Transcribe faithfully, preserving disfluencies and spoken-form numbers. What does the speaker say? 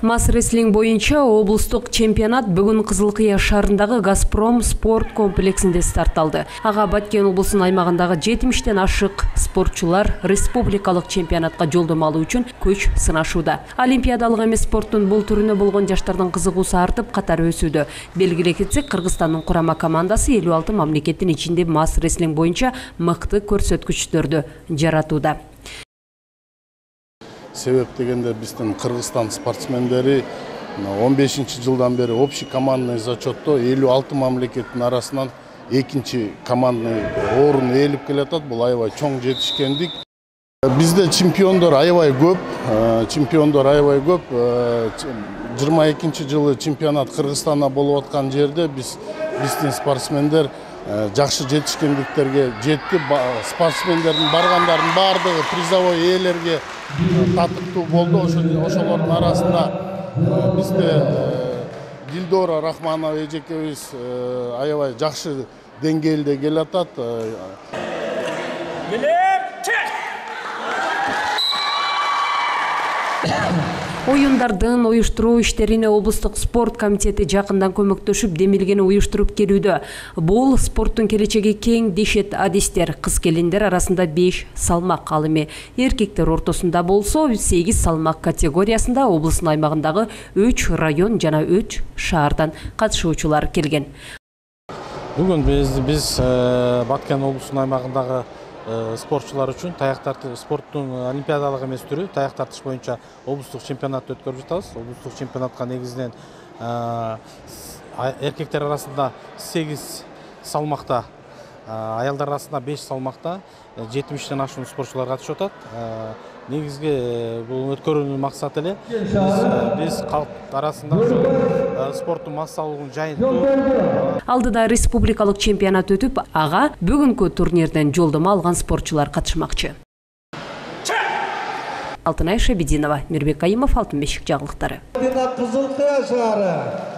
Мас рестлинг боюнча облустук чемпионат бүгүн Кызылкыя шаарындагы Газпром спорт комплексинде старт алды. Ага Баткен облусунун аймагындагы жетимиштен ашык спортчулар республикалык чемпионатка жолдомо алуу үчүн күч сынашууда. Олимпиадалык эмес спорттун бул түрүнө болгон жаштардын кызыгуусу артып, катары өсүүдө. Белгилей кетсек, Кыргызстандын курама командасы элүү алты мамлекеттин ичинде мас рестлинг боюнча мыкты көрсөткүчтөрдү жаратууда. Себеп дегенде биздин Кыргызстан спортсмендери он бешинчи жылдан бери общий командный зачетто элүү алты мамлекеттин арасынан экинчи командный орун ээлип келатат. Бул аябай чоң жетишкендик. Бизде чемпиондор аябай көп, чемпиондор аябай көп. жыйырма экинчи жылы чемпионат Кыргызстанда болуп аткан жерде биз биздин спортсмендер жакшы жетишкендиктерге жетти. Спортсмендердин баргандардын баардыгы призовой ээлерге татыктуу болду. Ошолордун арасында бизде Дилдора Рахманова эжекебиз аябай жакшы деңгээлде келатат. Оюндардын уюштуруу иштерине облустук спорт комитети жакындан көмөктөшүп, демилгени уюштуруп келүүдө. Бул спорттун келечеги кең дешет адистер. Кыз келиндер арасында беш салмак, ал эми эркектер ортосунда болсо сегиз салмак категориясында облустун аймагындагы үч район жана үч шаардан катышуучулар келген. Бүгүн биз биз Баткен облусунун аймагындагы спортчулар үчүн таяк тартыш спорттун олимпиадалык эмес түрү таяк тартыш боюнча облустук чемпионатты өткөрүп жатабыз. Облустук чемпионатка негизинен эркектер арасында сегиз салмакта, аялдар арасында беш салмакта жетимиштен ашуун спортчулар катышып атат. Негизги бул өткөрүүнүн максаты эле биз калк арасында спорттун массалуулугун жайынтуу. Алдыда республикалык чемпионат өтүп, ага бүгүнкү турнирден жолдомо алган спортчулар катышмакчы. Алтынай Шабидинова, Мирбек Кайымов, Алтын бешик жаңылыктары. Кызылкыя шаары.